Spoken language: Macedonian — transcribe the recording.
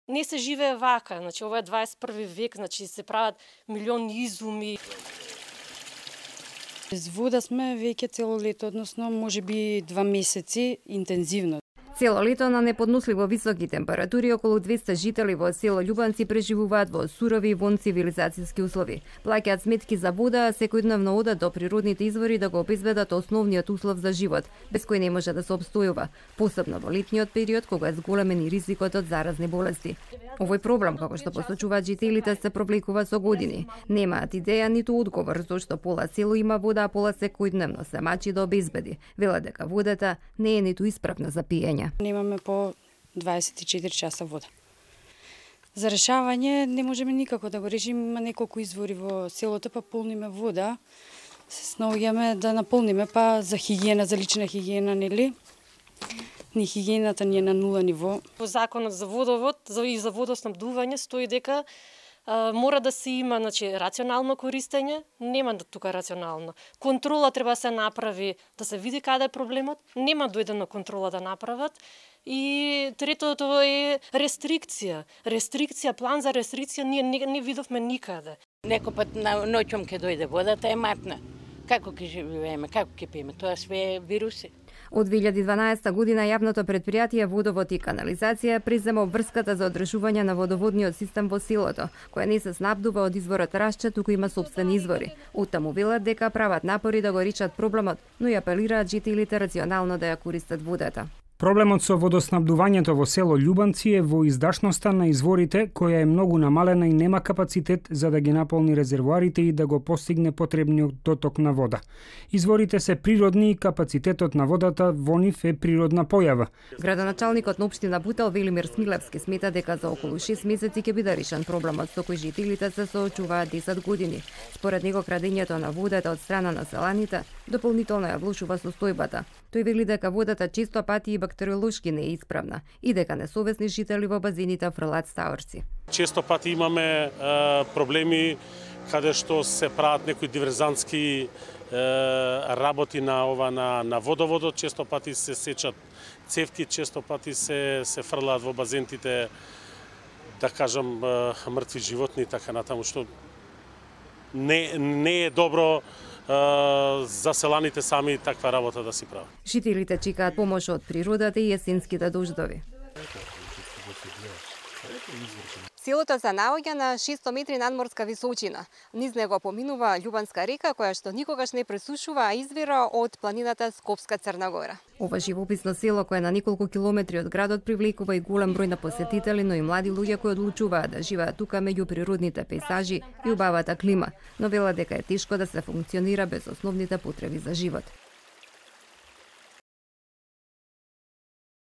Не се живее вака, значи ова е 21 век, значи се прават милиони изуми. Без вода сме веќе цело лето, односно можеби 2 месеци интензивно. Цело лето на неподносливо високи температури околу 200 жители во село Љубанци преживуваат во сурови и вонцивилизацијски услови. Плаќаат сметки за вода, а секојдневно одат до природните извори да го обезбедат основниот услов за живот, без кој не може да се обстојува, посебно во летниот период кога е зголемен и ризикот од заразни болести. Овој проблем, како што посочуваат жителите, се провлекува со години. Немаат идеја ниту одговор зошто пола село има вода, а пола секојдневно се мачи да обезбеди. Велат дека водата не е ниту исправна за пиење. Немаме по 24 часа вода. За решавање не можеме никако да го решиме, има неколку извори во селото, па полниме вода. Се снаоѓаме да наполниме, па за хигиена, за лична хигиена, нели? Ни хигиената ни е на нула ниво. Во законот за водовод и за водоснабдување стои дека мора да се има, значи, рационално користење, нема тука рационално. Контрола треба да се направи, да се види каде е проблемот, нема дојдено контрола да направат. И третото е рестрикција. Рестрикција, план за рестрикција ние не видовме никаде. Некој пат ноќом ќе дојде водата е матна. Како ќе живееме, како ќе пиеме, тоа све е вируси. Од 2012 година јавното предпријатие Водовод и канализација презема обврската за одржување на водоводниот систем во селото, која не се снабдува од изворот Рашча, туку има сопствени извори. Оттаму велат дека прават напори да го решат проблемот, но и апелираат жителите рационално да ја користат водата. Проблемот со водоснабдувањето во село Љубанци е во издашноста на изворите, која е многу намалена и нема капацитет за да ги наполни резервоарите и да го постигне потребниот доток на вода. Изворите се природни и капацитетот на водата во нив е природна појава. Градоначалникот на општина Бутел Велимир Смилевски смета дека за околу 6 месеци ќе биде решен проблемот со кој жителите се соочуваат 10 години. Според него крадењето на водата од страна на селаните дополнително ја влошува состојбата. Тој вели дека водата често пати и бактериолошки не е исправна и дека несовесни жители во базените фрлаат стаорци. Често пати имаме проблеми каде што се прават некои диверзантски работи на водоводот, често пати се сечат цевки, често пати се фрлаат во базентите, да кажам, мртви животни и така натаму, што не е добро за селаните сами таква работа да си прават. Жителите чекаат помош од природата и есенските дождови. Селото се наоѓа на 600 метри надморска височина. Низ него поминува Љубанска река, која што никогаш не пресушува, а извира од планината Скопска Црна Гора. Ова живописно село, кое е на неколку километри од градот, привлекува и голем број на посетители, но и млади луѓе кои одлучуваат да живеат тука меѓу природните пејзажи и убавата клима, но велат дека е тешко да се функционира без основните потреби за живот.